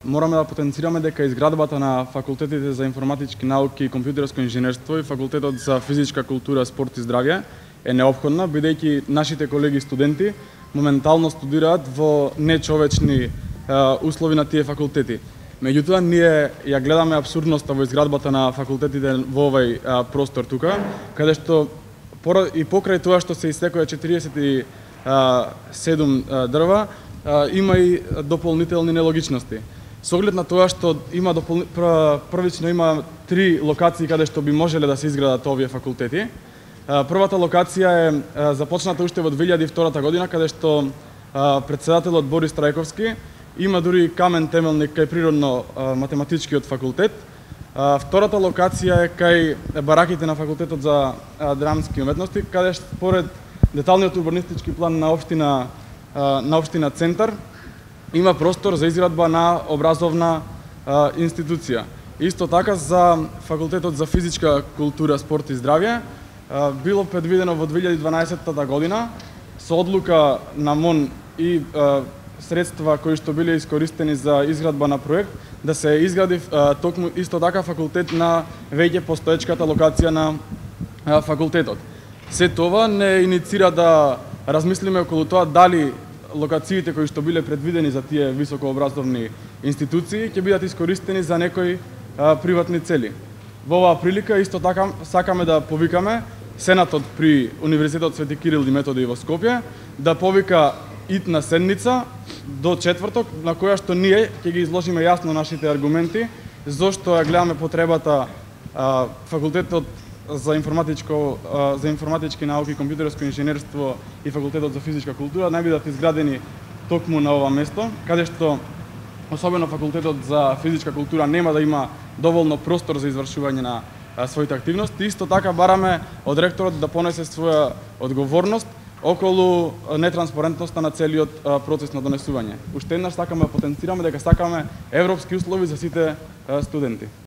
Мораме да потенцираме дека изградбата на факултетите за информатички науки и компјутерско инженерство и факултетот за физичка култура, спорт и здравје е неопходна, бидејќи нашите колеги студенти моментално студираат во нечовечни услови на тие факултети. Меѓутоа, ние ја гледаме абсурдноста во изградбата на факултетите во овој простор тука, каде што и покрај тоа што се исекоја 47 дрва, има и дополнителни нелогичности. Со оглед на тоа што има првично има 3 локации каде што би можеле да се изградат овие факултети. Првата локација е започната уште во 2002 година, каде што претседателот Борис Трајковски има дури камен темелник кај природно-математичкиот факултет. Втората локација е кај бараките на факултетот за драмски уметности, каде според деталниот урбанистички план на општина Центар има простор за изградба на образовна институција. Исто така за факултетот за физичка култура, спорт и здравје било предвидено во 2012 година со одлука на МОН и средства кои што биле искористени за изградба на проект да се изгради токму исто така факултет на веќе постоечката локација на факултетот. Се тоа не иницира да размислиме околу тоа дали локациите кои што биле предвидени за тие високообразовни институции ќе бидат искористени за некои приватни цели. Во оваа прилика исто така сакаме да повикаме Сенатот при Универзитетот Свети Кирил и Методи во Скопје да повика итна седница до четврток, на која што ние ќе ги изложиме јасно нашите аргументи зошто ја гледаме потребата факултетот за информатички науки и компјутерско инженерство и факултетот за физичка култура не бидат изградени токму на ова место, каде што особено факултетот за физичка култура нема да има доволно простор за извршување на своите активности. Исто така бараме од ректорот да понесе своја одговорност околу нетранспарентноста на целиот процес на донесување. Уште еднаш сакаме да потенцираме дека сакаме европски услови за сите студенти.